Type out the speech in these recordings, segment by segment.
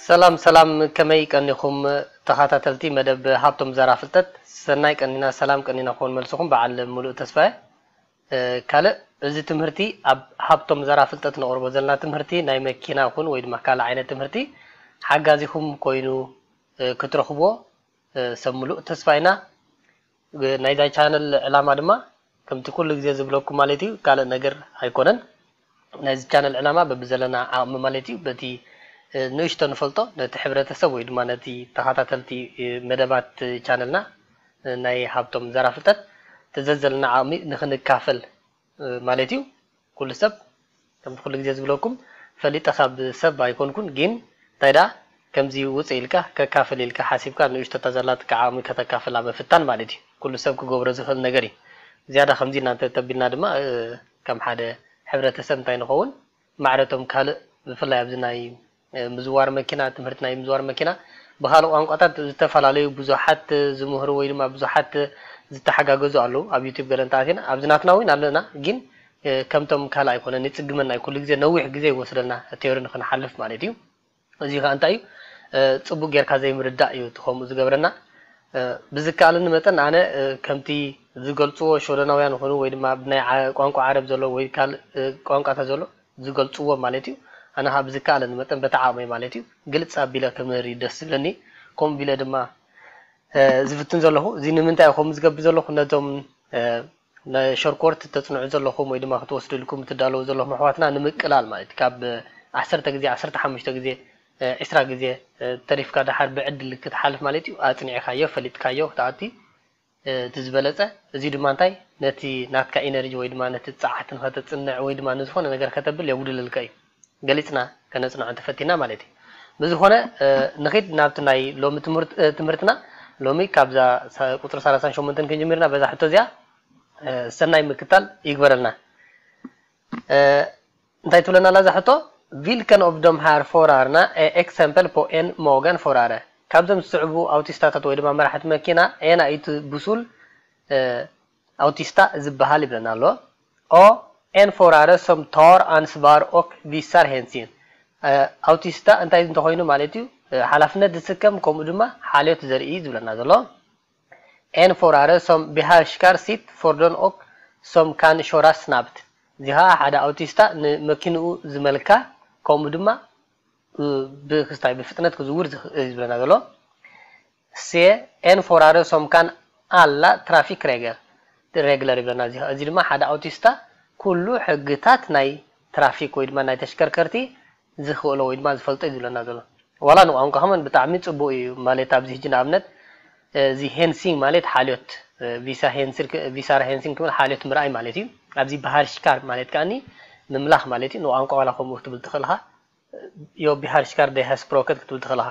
ሰላም ሰላም፣ ከመይ ቀኒኹም ተኸታተልቲ መደብ ሃብቶም ዘራ ፍልጠት? ሰናይ ቀኒና፣ ሰላም ቀኒና ክኾን መልስኹም በዓል ሙሉእ ተስፋ እየ። እ፣ ካልእ፣ እዚ ትምህርቲ ኣብ ሃብቶም ዘራ ፍልጠት ነቕርቦ ዘለና ትምህርቲ ናይ መኪና ይኹን ወይ ድማ ካልእ ዓይነት ትምህርቲ ሓጋዚኹም ኮይኑ፣ እ፣ ክትረኽብዎ፣ እ፣ ሰብ ሙሉእ ተስፋ ኢና። እ፣ ናይዛ ቻነል ዕላማ ድማ ከምቲ ኩሉ ግዜ ዝብለኩም ማለት እዩ፣ ካልእ ነገር ኣይኮነን። ናይዚ ቻነል ዕላማ በብዘለና ዓቕሚ ማለት እዩ፣ በቲ፣ እ፣ ንእሽቶ ንፈልጦ ነቲ ሕብረተሰብ ወይ ድማ ነቲ ተኸታተልቲ፣ እ፣ መደባት ቻነልና፣ እ፣ ናይ ሃብቶም ዘራ ፍልጠት ተዘዘለና ዓቕሚ ንኽንካፈል፣ እ፣ ማለት እዩ። ኩሉ ሰብ ከምቲ ኩሉ ግዜ ዝብለኩም ፈሊጠ ካብ ሰብ ኣይኮንኩን፣ ግን እንታይ ደኣ ከምዚ ውፅእ ኢልካ ከካፍል ኢልካ ሓሲብካ ንእሽቶ እታ ዘላትካ ዓቕሚ ከተካፍላ ምፍታን ማለት እዩ። ኩሉ ሰብ ክገብሮ ዝኽእል ነገር እዩ። ዝያዳ ከምዚ እናንተ ተቢልና ድማ፣ እ፣ ከም ሓደ ሕብረተሰብ እንታይ ንኸውን፣ ማዕረቶም ካልእ ብፍላይ ኣብዚ ናይ፣ እ፣ ምዝዋር መኪና፣ ትምህርቲ ናይ ምዝዋር መኪና ብኻልእ ቋንቋታት ዝተፈላለዩ ብዙሓት ዝምህሩ ወይ ድማ ብዙሓት ዝተሓጋገዙ ኣለዉ። ኣብ ዩቲዩብ ገለ እንተኣቲና ኣብዚ ናትና እውን ኣለና፣ ግን፣ እ፣ ከምቶም ካልእ ኣይኮነን፣ ይጽግመና እዩ። ኩሉ ግዜ ነዊሕ ግዜ ይወስደልና ቲዮሪ ንኽንሓልፍ ማለት እዩ። እዚ ኸኣ እንታይ እዩ? እ፣ ጽቡቕ ጌርካ ዘይምርዳእ እዩ እቲ ከምኡ ዝገብረና። እ፣ ብዝከኣለኒ መጠን ኣነ፣ እ፣ ከምቲ ዝገልጽዎ ሸወደናውያን ይኹኑ ወይ ድማ ብናይ ዓ-፣ ቋንቋ ዓረብ ዘሎ ወይ ካልእ፣ እ፣ ቋንቋታት ዘሎ ዝገልጽዎ ማለት እዩ። ኣነ ኸኣ ብዝከኣለኒ መጠን በቲ ዓቕመይ ማለት እዩ ግልጽ ኣቢለ ክምህር እዩ ደስ ዝብለኒ። ከምኡ ቢለ ድማ፣ እ፣ ዝፍትን ዘለኹ። እዚ ንምንታይ እዩ ከምኡ ዝገብር ዘለኹ? ነቶም፣ እ፣ ናይ ሸርኮርት ተጽንዑ ዘለኹም ወይ ድማ ክትወስዱ ኢልኩም ትዳለዉ ዘለኹም ኣሕዋትና ንምቅላል ማለት እዩ። ካብ ዓሰርተ ግዜ፣ ዓሰርተ ሓሙሽተ ግዜ፣ ዒስራ ግዜ ተሪፍካ ደሓር ብዕድል ክትሓልፍ ማለት እዩ። ኣጽኒዕካዮ፣ ፈሊጥካዮ ክትኣቲ እቲ ዝበለጸ። እዚ ድማ እንታይ ነቲ ናትካ ኢነርጂ ወይ ድማ ነቲ ጸዓት ንኸተጽንዕ ወይ ድማ ንዝኾነ ነገር ከተብል የጉድለልካ እዩ። ገሊጽና ከነጽንዖ እንተፈቲና ማለት እዩ። ብዝኾነ ንኺድ ናብቲ ናይ ሎሚ ትምህርት-፣ ትምህርትና ሎሚ ካብዛ ቁጽሪ ሰላሳን ሸሞንተን ክንጅምርና በዛ ሕቶ እዚኣ ሰናይ ምክታል ይግበረልና። እንታይ ትብለና ኣላ እዛ ሕቶ? Vilken av de här förarna är exempel på en mogen förare? ካብዞም ዝስዕቡ ኣውቲስታታት ወይ ድማ መራሕቲ መኪና ኣየናይ እቲ ብሱል ኣውቲስታ ዝበሃል ይብለና ኣሎ። A, en förare som tar ansvar och visar hänsyn. ኣውቲስታ እንታይ እንተኾይኑ ማለት እዩ፣ ሓላፍነት ዝስከም ከምኡ ድማ ሓልዮት ዘርኢ እዩ ዝብለና ዘሎ። En förare som behärskar sitt fordon och som kan köra snabbt. እዚ ኸዓ ሓደ ኣውቲስታ ንመኪንኡ ዝመልካ ከምኡ ድማ ብክስታይ ብፍጥነት ክዝውር ዝኽእል እዩ ዝብለና ዘሎ። C, en förare som kan alla trafikregler ይብለና። እዚ ድማ ሓደ ኣውቲስታ ኩሉ ሕግታት ናይ ትራፊክ ወይ ድማ ናይ ተሽከርከርቲ ዝኽእሎ ወይ ድማ ዝፈልጦ እዩ ዝብለና ዘሎ። ዋላ ንቋንቋ ከመን ብጣዕሚ ጽቡቕ እዩ ማለት ኣብዚ ሕጂ ንኣብነት እዚ ሄንሲንግ ማለት ሓልዮት፣ ቪሳ ሄንሲንግ ክብል ሓልዮት ምርኣይ ማለት እዩ። ኣብዚ በሃርሽካር ማለት ከኣኒ ምምላኽ ማለት እዩ። ንቋንቋ ዋላ ከምኡ ክትብል ትኽእል ኢኻ። ዮ ቢሃርሽካር ደሃስፕሮከት ክትብል ትኽእል ኢኻ።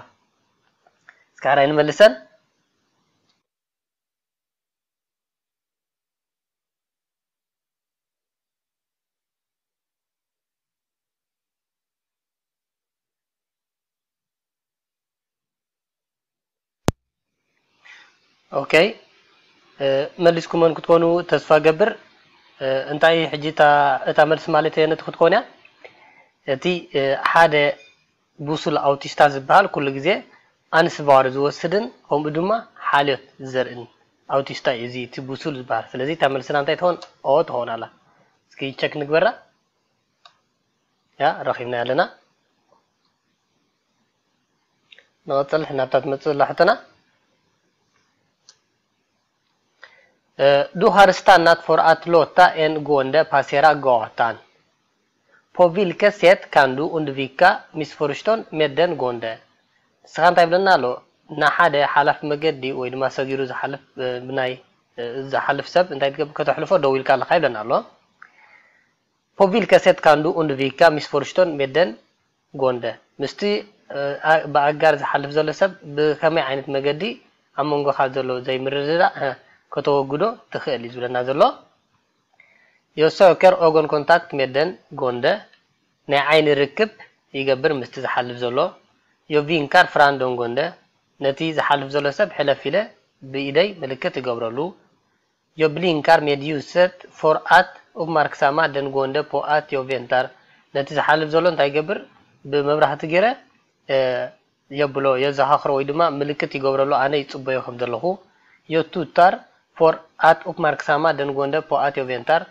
እስካራይ ንመልሰን። ኦኬ፣ መሊስኩመን ክትኮኑ ተስፋ ገብር። እንታይ ሕጂ እታ መልሲ ማለት ነቲ ክትኮን እያ። እቲ ሓደ ብሱል ኣውቲስታ ዝበሃል ኩሉ ግዜ ኣንስባር ዝወስድን ከምኡ ድማ ሓልዮት ዘርእን ኣውቲስታ እዩ እዚ እቲ ብሱል ዝበሃል። ስለዚ እታ መልስና እንታይ ትኾን? ኦ ትኾን ኣላ። እስኪ ቸክ ንግበራ። ያ ረኺብና ኣለና። ንቐጽል ናብታ ትመጽእ ዘላ ሕቶና። Du har stannat för att låta en gående passera gatan. På vilket sätt kan du undvika missförstånd med den gående? ንስኻ እንታይ ይብለና ኣሎ? ንሓደ ሓላፊ መገዲ ወይ ድማ ሰጊሩ ዝሓልፍ ብናይ ዝሓልፍ ሰብ እንታይ ትገብር? ከተሕልፎ ደው ኢልካ ኣለኻ ይብለና ኣሎ። På vilket sätt kan du undvika missförstånd med den gående? ምስቲ ብኣጋር ዝሓልፍ ዘሎ ሰብ ብኸመይ ዓይነት መገዲ ኣብ መንጎኻ ዘሎ ዘይምርድዳእ ከተወግዶ ትኽእል እዩ ዝብለና ዘሎ። Jag söker ögonkontakt med den gående. ናይ ዓይኒ ርክብ ይገብር ምስቲ ዝሓልፍ ዘሎ። Jag vinkar fram den gående. ነቲ ዝሓልፍ ዘሎ ሰብ ሕለፍ ኢለ ብኢደይ ምልክት እገብረሉ። Jag blinkar med ljuset för att uppmärksamma den gående på att jag väntar. ነቲ ዝሓልፍ ዘሎ እንታይ ይገብር? ብመብራህቲ ገይረ የብሎ፣ የዘኻኽሮ ወይ ድማ ምልክት ይገብረሉ፣ ኣነ ይጽበዮ ከም ዘለኹ። Yo tutar for at uppmärksamma den gående på att jag väntar።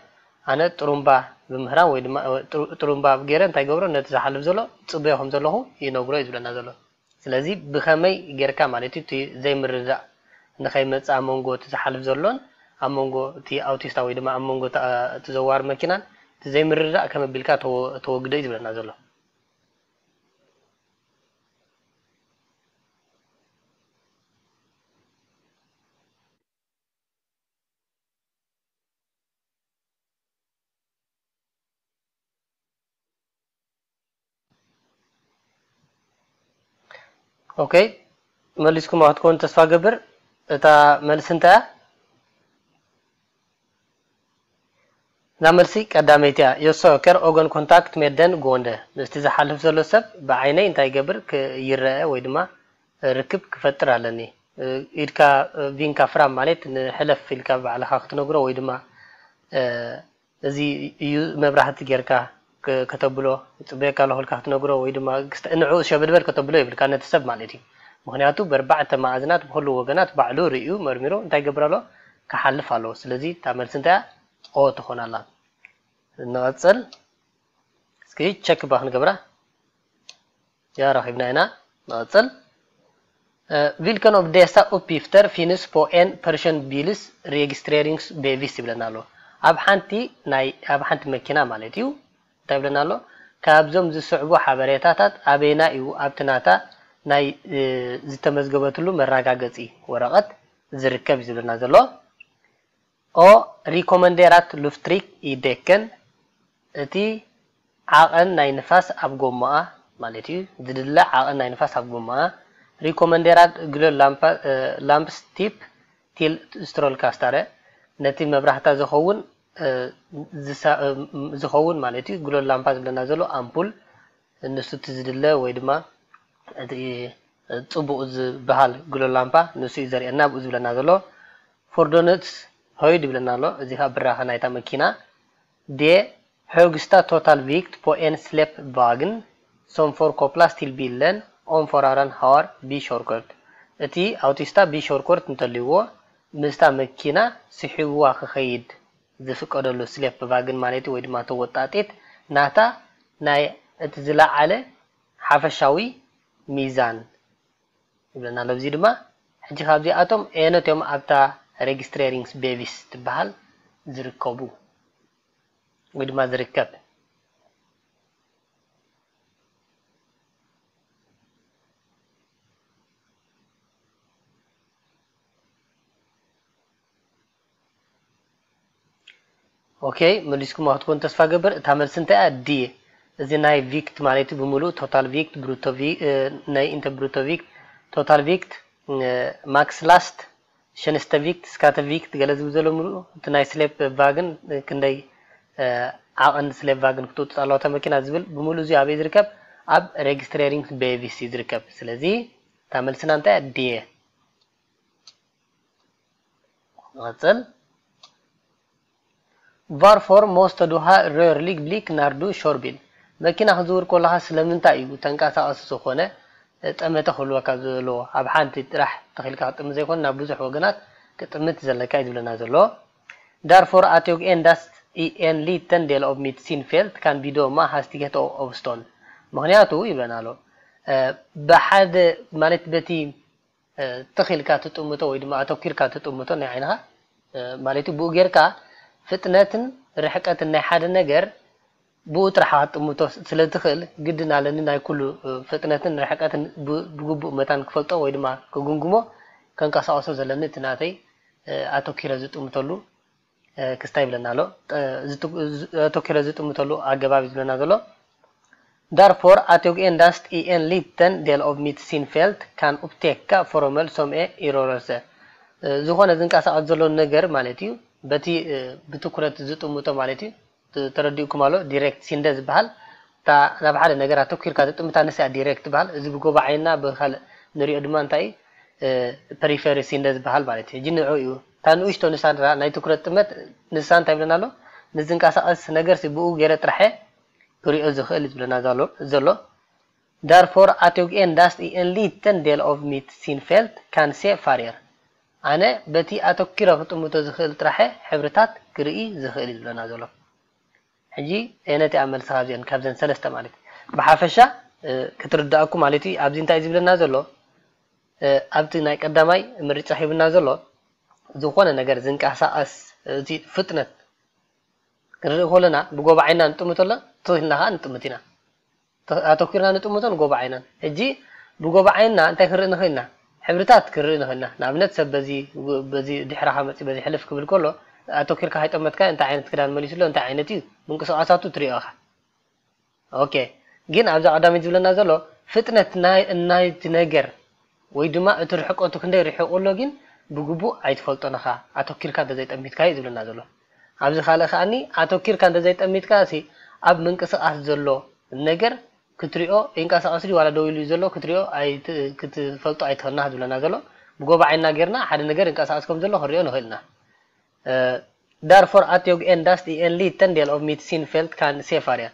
ኣነ ጥሩምባ ብምህራም ወይ ድማ ጥሩምባ ገይረ እንታይ ገብሮ፣ ነቲ ዝሓልፍ ዘሎ ጽበዮ ከም ዘለኹ ይነግሮ እዩ ዝብለና ዘሎ። ስለዚ ብኸመይ ጌርካ ማለት እዩ እቲ ዘይምርዳእ ንኸይመጽእ ኣብ መንጎ እቲ ዝሓልፍ ዘሎን ኣብ መንጎ እቲ ኣውቲስታ ወይ ድማ ኣብ መንጎ እቲ ዘዋር መኪናን እቲ ዘይምርዳእ ከመይ ኣቢልካ ተወግዶ እዩ ዝብለና ዘሎ። ኦኬ፣ መሊስኩም ክትኮኑ ተስፋ ገብር። እታ መልሲ እንታይ እያ? እዛ መልሲ ቀዳመይቲ እያ። Yo söker ögonkontakt med den gående። ምስቲ ዝሓልፍ ዘሎ ሰብ ብዓይነይ እንታይ ይገብር? ይረአ ወይ ድማ ርክብ ክፈጥር ኣለኒ። ኢድካ ቪንካ ፍራም ማለት ንሕለፍ ኢልካ ባዕልኻ ክትነግሮ ወይ ድማ እዚ እዩ መብራህቲ ጌርካ ከተብሎ፣ ይጽበየካ ኣለኹ ኢልካ ክትነግሮ ወይ ድማ ንዕኡ ሸበድበድ ከተብሎ የብልካ ነቲ ሰብ ማለት እዩ። ምኽንያቱ በርባዕተ መኣዝናት ብኹሉ ወገናት ባዕሉ ርእዩ መርሚሩ እንታይ ይገብር ኣሎ? ክሓልፍ ኣለዎ። ስለዚ እታ መልሲ እንታይ እያ? ኦ ትኾን ኣላ። ንቐጽል። እስኪ ቸክ ባ ክንገብራ። ያ ረኺብና ኢና። ንቐጽል። Vilken av dessa uppgifter finns på en personbils registreringsbevis ይብለና ኣሎ። ኣብ ሓንቲ ናይ ኣብ ሓንቲ መኪና ማለት እዩ እንታይ ይብለና ኣሎ? ካብዞም ዝስዕቡ ሓበሬታታት ኣበይና እዩ ኣብቲ ናታ ናይ ዝተመዝገበትሉ መረጋገጺ ወረቐት ዝርከብ እዩ ዝብለና ዘሎ። O rekommenderat lufttryck i däcken። እቲ ዓቐን ናይ ንፋስ ኣብ ጎማኣ ማለት እዩ። ዝድለ ዓቐን ናይ ንፋስ ኣብ ጎማኣ። Rekommenderat glødlampe, lampstift til strålkasteren። ነቲ መብራህታ ዝኸውን ዝኸውን ማለት እዩ። ግሎድ ላምፓ ዝብለና ዘሎ ኣምፑል ንሱ እቲ ዝድለ ወይ ድማ እቲ ጽቡቕ ዝበሃል ግሎድ ላምፓ ንሱ እዩ ዘርእየና ኣብኡ ዝብለና ዘሎ። Fordonets høyde ይብለና ኣሎ። እዚ ከዓ ብራኸ ናይታ መኪና። De høyeste totalvekt på en släpvogn som får kopplas til bilen om føreren har B-körkort። እቲ ኣውቲስታ B-körkort እንተልይዎ ምስታ መኪና ስሒብዋ ክኸይድ ዝፍቀደሉ ስሌፕ ቫግን ማለት ወይ ድማ ተወጣጢት ናታ ናይ እቲ ዝለዓለ ሓፈሻዊ ሚዛን ይብለና ኣሎ። እዚ ድማ ሕጂ ካብዚኣቶም ኣየኖት እዮም ኣብታ ሬጅስትሬሪንግስ ቤቪስ ትበሃል ዝርከቡ ወይ ድማ ዝርከብ? ኦኬ፣ መሊስኩም ክትኮን ተስፋ ገብር። እታ መልሲ እንታይ እያ? ዲ። እዚ ናይ ቪክት ማለት እዩ ብምሉእ ቶታል ቪክት፣ ብሩቶ ቪ-፣ እ፣ ናይ ኢንተ ብሩቶ ቪክት፣ ቶታል ቪክት፣ እ፣ ማክስ ላስት፣ ሸንስተ ቪክት፣ ስካተ ቪክት ገለ ዝብል ዘሎ ምሉእ እቲ ናይ ስሌፕ ቫግን ክንደይ፣ እ፣ ዓቐን ስሌፕ ቫግን ክትውጥጥ ኣለዋ እታ መኪና ዝብል ብምሉእ እዚ ኣበይ ዝርከብ? ኣብ ሬጅስትሬሪንግ ቤቪስ እዩ ዝርከብ። ስለዚ እታ መልስና እንታይ እያ? ዲ። ንቐጽል። Varför måste du ha rörlig blick när du kör bil? መኪና ክትዝውር ከለኻ ስለምንታይ እዩ ተንቀሳቐሲ ዝኾነ ጠመተ ክህልወካ ዘለዎ? ኣብ ሓንቲ ጥራሕ ተኺልካ ክጥምት ዘይኮነ ናብ ብዙሕ ወገናት ክጥምት ዘለካ እዩ ዝብለና ዘሎ። Därför att jag endast i en liten del av mitt synfält kan bedöma hastigheten och avstånd. ምኽንያቱ ይብለና ኣሎ፣ እ፣ ብሓደ ማለት በቲ እ፣ ትኽ ኢልካ ትጥምቶ ወይ ድማ ኣተኲርካ ትጥምቶ ናይ ዓይንኻ፣ እ፣ ማለት እዩ። ብኡ ጌርካ ፍጥነትን ርሕቀትን ናይ ሓደ ነገር ብኡ ጥራሕ ክትጥምቶ ስለ ትኽእል፣ ግድን ኣለኒ ናይ ኩሉ፣ እ፣ ፍጥነትን ርሕቀትን ብ-፣ ብግቡእ መታን ክፈልጦ ወይ ድማ ክግምግሞ፣ ከንቀሳቕሶ ዘለኒ እቲ ናተይ፣ እ፣ ኣተኲረ ዝጥምተሉ እ፣ ክስታይ ይብለና ኣሎ። እ፣ ዝጥ-፣ ዝ-፣ ኣተኲረ ዝጥምተሉ ኣገባብ እዩ ዝብለና ዘሎ። Därför att jag endast i en liten del av mitt synfält kan upptäcka föremål som är i rörelse። እ፣ ዝኾነ ዝንቀሳቐስ ዘሎ ነገር ማለት እዩ። በቲ፣ እ፣ ብትኩረት ዝጥምቶ ማለት እዩ። ት-፣ ተረዲኡኩም ኣሎ። ዲሬክት ሲንደ ዝበሃል። እታ ናብ ሓደ ነገር ኣተኲርካ ትጥምታ ንሳ እያ ዲሬክት ትበሃል። እዚ ብጎቦ ዓይንና ብኻልእ ንሪኦ ድማ እንታይ እዩ? እ፣ ፐሪፈሪ ሲንደ ዝበሃል ማለት እዩ። ሕጂ ንዕኡ እዩ። እታ ንእሽቶ ንሳ ንራ-፣ ናይ ትኩረት ጥመት ንሳ እንታይ ይብለና ኣሎ? ንዝንቀሳቐስ ነገር ሲ ብኡ ገይረ ጥራሐ ክሪኦ ዝኽእል እዩ ዝብለና ዘሎ፣ ዘሎ። Därför att jag endast i en liten del av mitt synfält kan se färger. ኣነ በቲ ኣተኪረ ክጥምቶ ዝኽእል ጥራሐ ሕብርታት ክርኢ ዝኽእል እዩ ዝብለና ዘሎ። ሕጂ ነቲ ኣብ መልሲ ካብዚአን ካብዘን ሰለስተ ማለት እዩ። ብሓፈሻ ክትርዳእኩ ማለት እዩ ኣብዚ እንታይ እዩ ዝብለና ዘሎ? ኣብቲ ናይ ቀዳማይ ምርጫ ሂብና ዘሎ ዝኾነ ነገር ዝንቀሳቐስ እቲ ፍጥነት ክንርኢ ከለና ብጎባዓይና ንጥምት ኣሎ ትኽክልና ከዓ ንጥምት ኢና። ኣተኪርና ንጥምቶን ጎባዓይናን። ሕጂ ብጎባዓይና እንታይ ክንርኢ ንኽእልና? ሕብርታት ክንርኢ ንኽእልና። ንኣብነት ሰብ በዚ በዚ ድሕራኻ መፂ በዚ ሕልፍ ክብል ከሎ ኣተኪርካ ከይጠመትካ እንታይ ዓይነት ክዳን መሊሱ ኣሎ እንታይ ዓይነት እዩ ምንቅስቃሳቱ ትሪኦ ኢኻ። ኦኬ ግን ኣብዛ ቀዳመይቲ ዝብለና ዘሎ ፍጥነት ናይ ናይቲ ነገር ወይ ድማ እቲ ርሕቀቱ ክንደይ ርሒቑ ኣሎ ግን ብግቡእ ኣይትፈልጦን ኢኻ ኣተኪርካ እንተዘይጠሚትካዮ ዝብለና ዘሎ። ኣብዚ ካልእ ከኣኒ ኣተኪርካ እንተዘይጠሚትካ ሲ ኣብ ምንቅስቃስ ዘሎ ነገር ክትሪኦ ይንቀሳቐስ ድዩ ዋላ ደው ኢሉ እዩ ዘሎ ክትሪኦ ኣይት- ክትፈልጦ ኣይትኽእልና ዝብለና ዘሎ። ብጎባዓይና ጌርና ሓደ ነገር ይንቀሳቐስ ከም ዘሎ ክንሪኦ ንኽእል ኢና። Därför att jag endast i en liten del av mitt synfält kan se färgen.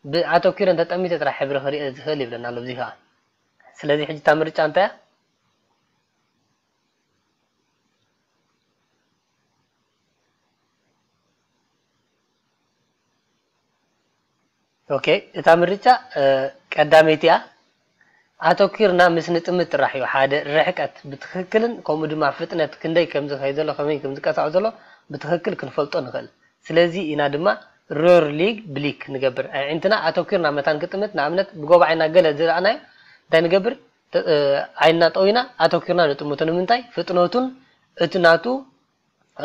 ብኣተኪረ እንተጠሚተ ጥራሕ ሕብሪ ክርኢ ዝኽእል ይብለና ኣሎ። እዚ ከዓ ስለዚ ሕጂ እታ ምርጫ እንታይ እያ? ኦኬ እታ ምርጫ ቀዳመይቲ እያ። ኣተኪርና ምስ ንጥምት ጥራሕ እዩ ሓደ ርሕቀት ብትኽክልን ከምኡ ድማ ፍጥነት ክንደይ ከም ዝኸይድ ዘሎ ከመይ ከም ዝንቀሳቐስ ዘሎ ብትኽክል ክንፈልጦ ንኽእል። ስለዚ ኢና ድማ rörlig blick ንገብር። ኣዒንትና ኣተኪርና መታን ክጥምት ንኣብነት ብጎባዓይና ገለ ዝረኣናዮ እንታይ ንገብር? ዓይንና ጠዊና ኣተኪርና ንጥምቶ ንምንታይ? ፍጥነቱን እቲ ናቱ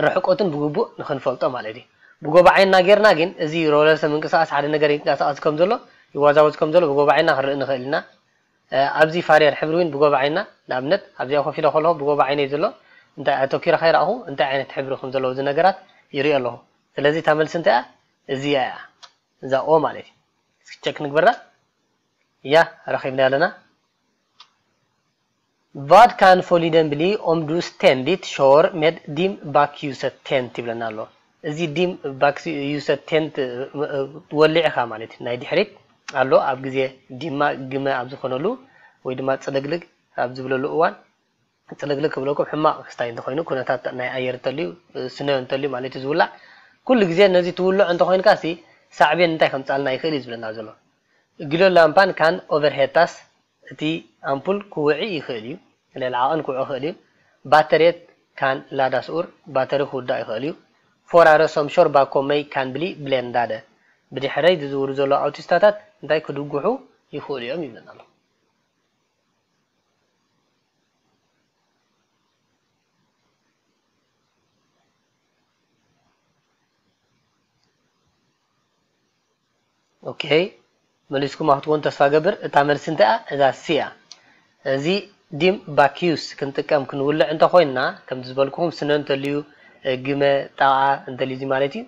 ርሕቀቱን ብግቡእ ንኽንፈልጦ ማለት እዩ። ብጎባዓይና ጌርና ግን እዚ ሮለርሰ ምንቅስቃስ ሓደ ነገር ይንቀሳቐስ ከም ዘሎ ይዋዛወዝ ከም ዘሎ ብጎባዓይና ክንርኢ ንኽእል ኢና። ኣብዚ ፋርየር ሕብሪ እውን ብጎባዓይና ንኣብነት ኣብዚኣ ኮፍ ኢለ ከለኹ ብጎባዓይነይ ዘሎ እንታይ ኣተኪረ ከይረኣኹ እንታይ ዓይነት ሕብሪ ከም ዘለዎ እዚ ነገራት ይሪኦ ኣለኹ። ስለዚ እታ መልሲ እንታይ እያ? እዚኣ እያ። እዛ ኦ ማለት እዩ። እስኪ ቸክ ንግበራ። እያ ረኺብና ኣለና። Vad kan följden bli om du ständigt kör med dim bakljuset tänt ይብለና ኣሎ። እዚ ዲም ባክልዩሰት ቴንት ወሊዕኻ ማለት እዩ ናይ ድሕሪት ኣሎ ኣብ ግዜ ዲማ ግመ ኣብ ዝኾነሉ ወይ ድማ ፅልግልግ ኣብ ዝብለሉ እዋን ፅልግልግ ክብለኩም ሕማቕ ክስታይ እንተኾይኑ ኩነታት ናይ ኣየር እንተልዩ ስነ እንተልዩ ማለት እዩ ዝውላዕ ኩሉ ግዜ ነዚ ትውልዖ እንተኾይንካ ሲ ሳዕቤን እንታይ ከምፃልና ይኽእል እዩ ዝብለና ዘሎ። Glödlampan kan överhettas እቲ ኣምፑል ክውዒ ይኽእል እዩ። ልዕሊ ዓቐን ክውዒ ይኽእል እዩ። Batteriet kan laddas ur ባተሪ ክውዳእ ይኽእል እዩ። Förare som kör bakom mig kan bli bländade ብድሕረይ ዝዝውሩ ዘለዉ ኣውቲስታታት እንታይ ክድጉሑ ይኽእሉ እዮም ይብለና ኣሎ። ኦኬ መሊስኩም ክትኮኑ ተስፋ ገብር። እታ መልሲ እንታይ እያ? እዛ ሲ እያ። እዚ ዲም ባክዩስ ክንጥቀም ክንውልዕ እንተኮይንና ከምቲ ዝበልኩኹም ስነ እንተልዩ ግመ ጣቓ እንተልዩ ማለት እዩ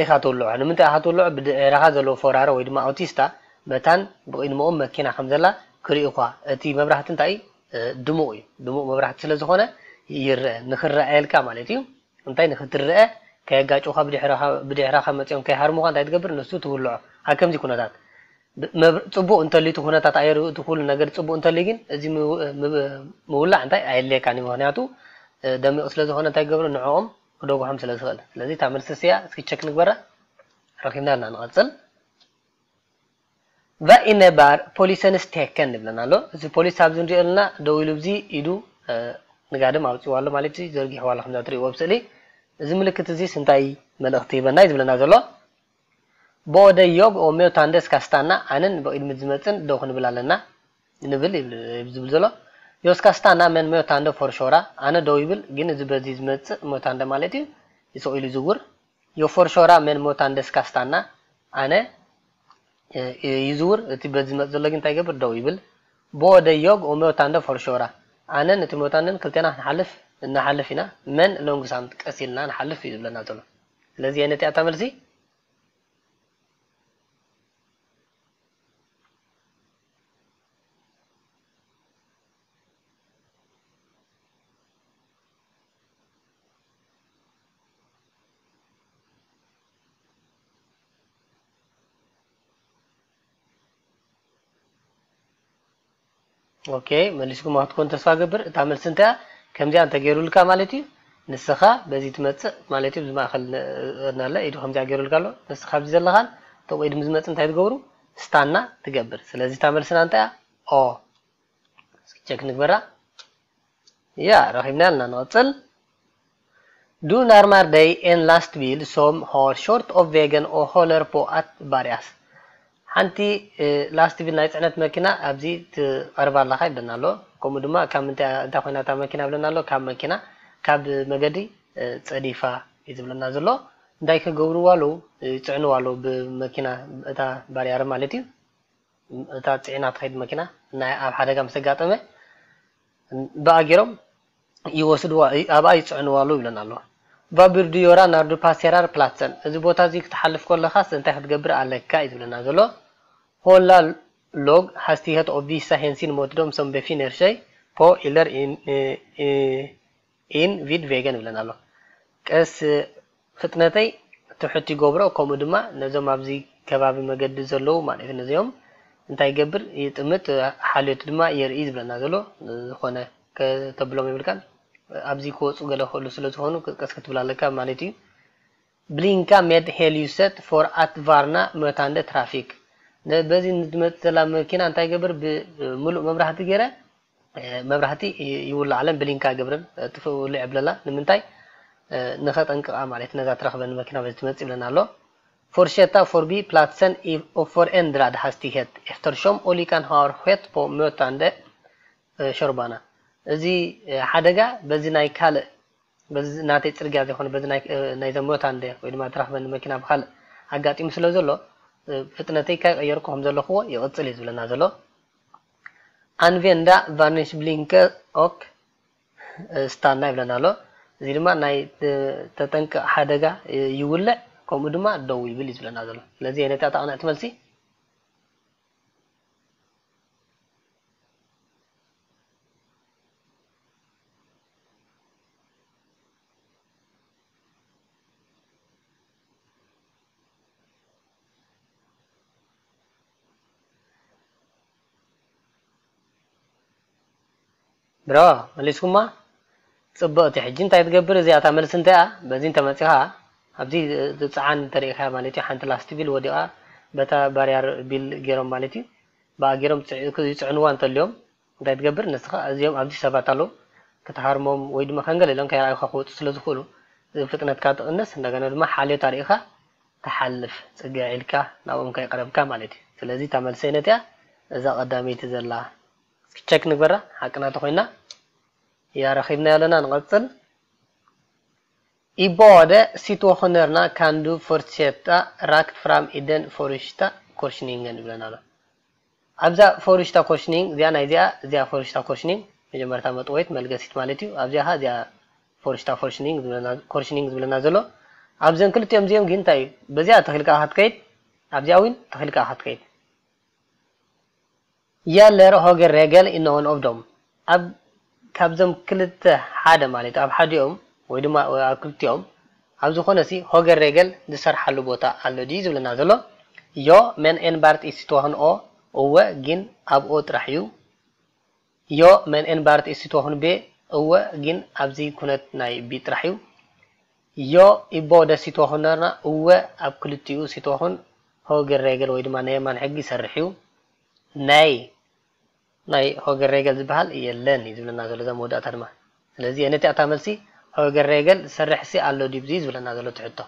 ኢኻ ትውልዖ። ንምንታይ ኢኻ ትውልዖ? ብድዕራኻ ዘለዎ ፈራሪ ወይ ድማ ኣውቲስታ መታን ብቕድምኦም መኪና ከም ዘላ ክርኢ እኳ እቲ መብራህቲ እንታይ ድሙቕ እዩ። ድሙቕ መብራህቲ ስለ ዝኾነ ይረአ ንክረኣየልካ ማለት እዩ። እንታይ ንክትረአ ከየጋጭውካ ብድሕራኻ መፅኦም ከይሃርሙካ እንታይ ትገብር ንሱ ትውልዖ ኣብ ከምዚ ኩነታት ፅቡቅ እንተልዩ እቲ ኩነታት ኣየር እቲ ኩሉ ነገር ፅቡቅ እንተልዩ ግን እዚ ምውላዕ እንታይ ኣየድልየካን እዩ ምክንያቱ ደሚቁ ስለዝኮነ እንታይ ገብሩ ንዕኦም ክደጉሖም ስለዝክእል ስለዚ እታ መልሲ ስያ እስኪ ቸክ ንግበራ ረኪብና ኣለና ንቀፅል Vad innebär polisens tecken ይብለና ኣሎ። እዚ ፖሊስ ኣብዚ ንሪኦ ዘለና ደው ኢሉ እዚ ኢዱ ንጋድም ኣውፅዋ ኣሎ ማለት እዩ። ዘርጊሕዋ ኣሎ ከምዛ ትሪእዎ ኣብ ስእሊ። እዚ ምልክት እዚስ እንታይ መልእኽቲ ይህበና እዩ ዝብለና ዘሎ? Både jag och mötande ska stanna ኣነን ብቕድሚት ዝመፅን ደው ክንብል ኣለና ንብል ዝብል ዘሎ። Jag ska stanna men mötande får köra ኣነ ደው ይብል ግን እዚ በዚ ዝመፅእ mötande ማለት እዩ ይስቕ ኢሉ ይዝውር። Yo for köra men mötande ska stanna ኣነ ይዝውር እቲ በዚ ዝመፅ ዘሎ ግን እንታይ ይገብር ደው ይብል። Både jag och mötande får köra ኣነን እቲ mötanden ክልቴና ክንሓልፍ ንሓልፍ ኢና men långsamt ቀስ ኢልና ንሓልፍ እዩ ዝብለና ዘሎ። ስለዚ ኣየነይቲ እያ እታ መልሲ? ኦኬ፣ መሊስኩም ክትኮን ተስፋ ገብር። እታ መልሲ እንታይ እያ? ከምዚኣ እንተገይሩልካ ማለት እዩ፣ ንስኻ በዚ ትመጽእ ማለት እዩ። ብማእኸል ነ-፣ ናለ ኢዱ ከምዚኣ ገይሩልካ ኣሎ። ንስኻ ኣብዚ ዘለኻን እቶም ኢድም ዝመጽእ እንታይ ትገብሩ? ስታና ትገብር። ስለዚ እታ መልስና እንታይ እያ? ኦ። እስኪ ቸክ ንግበራ። ያ፣ ረኺብና ኣለና። ንቐጽል። Du nærmer deg en lastebil som har kjørt av veien og holder på et barrier. ሓንቲ እ፣ ላስት ቢል ናይ ጽዕነት መኪና ኣብዚ ትቐርባ ኣለኻ ይብለና ኣሎ። ከምኡ ድማ ካብ ምንታይ፣ እንታይ ኮይና እታ መኪና ይብለና ኣሎ? ካብ መኪና፣ ካብ መገዲ እ፣ ጸዲፋ እዩ ዝብለና ዘሎ። እንታይ ክገብርዋ ኣለዉ? ይጽዕንዋ ኣለዉ ብመኪና፣ እታ ባርያር ማለት እዩ። እታ ጽዒና ትኸይድ መኪና ናይ ኣብ ሓደጋ ምስ ኣጋጠመ ብኣ ገይሮም ይወስድዋ፣ ኣብኣ ይጽዕንዋ ኣለዉ ይብለና ኣሎ። Va bør du gjøre når du passerer platsen? እዚ ቦታ እዚ ክትሓልፍ ከለኻስ እንታይ ክትገብር ኣለካ እዩ ዝብለና ዘሎ። Holde lav hastighet og vise hensyn mot dem som befinner seg på eller inn, eh, eh, in vid veien ይብለና ኣሎ። ቀስ ፍጥነተይ ትሑት ይገብሮ፣ ከምኡ ድማ ነዞም ኣብዚ ከባቢ መገዲ ዘለዉ ማለት እዩ፣ ነዚኦም እንታይ ይገብር? ይጥምት፣ ሓልዮት ድማ የርኢ ዝብለና ዘሎ። ዝኾነ ከተብሎም የብልካን። ኣብዚ ክወፁ ገለ ክእሉ ስለ ዝኾኑ ቀስ ክትብል ኣለካ ማለት እዩ። Blinke med hellyset for at varne møtende trafikk። ነ-፣ በዚ ንዝመጽእ ዘላ መኪና እንታይ ይገብር? ብምሉእ መብራህቲ ገይረ፣ እ፣ መብራህቲ ይ-፣ ይውልዓለን ብሊንካ ይገብረን፣ እ፣ ጥፍእ ውልዕ የብለላ። ንምንታይ? እ፣ ንኸጠንቅቓ ማለት ነዛ ትረኽበኒ መኪና በዚ ትመጽእ ይብለና ኣሎ። Fortsette forbi platsen i-, og for endret hastighet, eftersom ulykken har skjedd på møtende, እ፣ kjørebane። እዚ፣ እ፣ ሓደጋ በዚ ናይ ካልእ በዚ ናተይ ጽርግያ ዘይኮነ በዚ ናይ፣ እ፣ ናይ ዘሞታንደ ወይ ድማ ትራኽበኒ መኪና ብኻልእ ኣጋጢሙ ስለ ዘሎ፣ እ፣ ፍጥነተይ ከይቀየርኩ ከም ዘለኹዎ ይቕጽል እዩ ዝብለና ዘሎ። Anvend varningsblinker og, እ፣ stanna ይብለና ኣሎ። እዚ ድማ ናይ፣ እ፣ ተጠንቀቕ ሓደጋ፣ እ፣ ይውልዕ፣ ከምኡ ድማ ደው ይብል እዩ ዝብለና ዘሎ። ስለዚ የነታ እታ ቅንዕቲ መልሲ ብሮ፣ መሊስኩማ? ጽብቕቲ። ሕጂ እንታይ ትገብር? እዚኣ እታ መልሲ እንታይ እያ? በዚ እንተመጺኻ፣ ኣብዚ ትጽዓን እንተሪኢኻ ማለት እዩ፣ ሓንቲ ላስቲቢል ወዲቓ፣ በታ ባርያር ቢል ገይሮም ማለት እዩ፣ ብኣ ገይሮም ጽዕ-፣ ይጽዕንዋ እንተልዮም፣ እንታይ ትገብር? ንስኻ እዚኦም ኣብዚ ሰባት ኣለዉ፣ ክትሃርሞም ወይ ድማ ከንገል ኢሎም ከይረኣዩኻ ክወጹ ስለ ዝኽእሉ፣ ፍጥነትካ ትቕንስ፣ እንደገና ድማ ሓልዮት ኣርኢኻ ትሓልፍ፣ ጽግዕ ኢልካ ናብኦም ከይቀረብካ ማለት እዩ። ስለዚ እታ መልሰይ ነቲኣ እዛ ቀዳመይቲ ዘላ እስኪ ቸክ ንግበራ፣ ሓቅና ተኾይና። ያ፣ ረኺብናዮ ኣለና፣ ንቐጽል። I båda situasjonerna kan du fortsette rakt fram i den første korsningen ይብለና ኣሎ። ኣብዛ ፈርሽታ ኮርሽኒንግ እዚኣ፣ ናይ እዚኣ፣ እዚኣ ፈርሽታ ኮርሽኒንግ፣ መጀመርታ መጥወይት መልገሲት ማለት እዩ። ኣብዚኣ ኸዓ እዚኣ ፈርሽታ ኮርሽኒንግ ዝብለና፣ ኮርሽኒንግ ዝብለና ዘሎ። ኣብዘን ክልቲኦም እዚኦም ግን እንታይ እዩ? በዚኣ ተኺልካ ኸትከይድ፣ ኣብዚኣ እውን ተኺልካ ኸትከይድ። Gjelder høyreregel i noen av dem? ኣብ፣ ካብዞም ክልተ ሓደ ማለት እዩ፣ ኣብ ሓዲኦም ወይ ድማ ኣብ ክልቲኦም ኣብ ዝኾነ ሲ ሆገር ሬገል ዝሰርሓሉ ቦታ ኣሎ ድዩ ዝብለና ዘሎ? ዮ፣ men enbart i situasjon å፣ እወ ግን ኣብ ኦ ጥራሕ እዩ። ዮ፣ men enbart i situasjon B፣ እወ ግን ኣብዚ ኩነት ናይ ቢ ጥራሕ እዩ። ዮ፣ i båda situasjonerna፣ እወ ኣብ ክልቲኡ ሲትዋሽን ሆገር ሬገል ወይ ድማ ናይ የማን ሕጊ ይሰርሕ እዩ። ናይ ናይ ሆገር ሬገል ዝበሃል የለን እዩ ዝብለና ዘሎ እዛ መወዳእታ ድማ። ስለዚ ነቲ እታ መልሲ ሆገር ሬገል ዝሰርሕ ሲ ኣሎ ድዩ ዝብለና ዘሎ እቲ ሕቶ።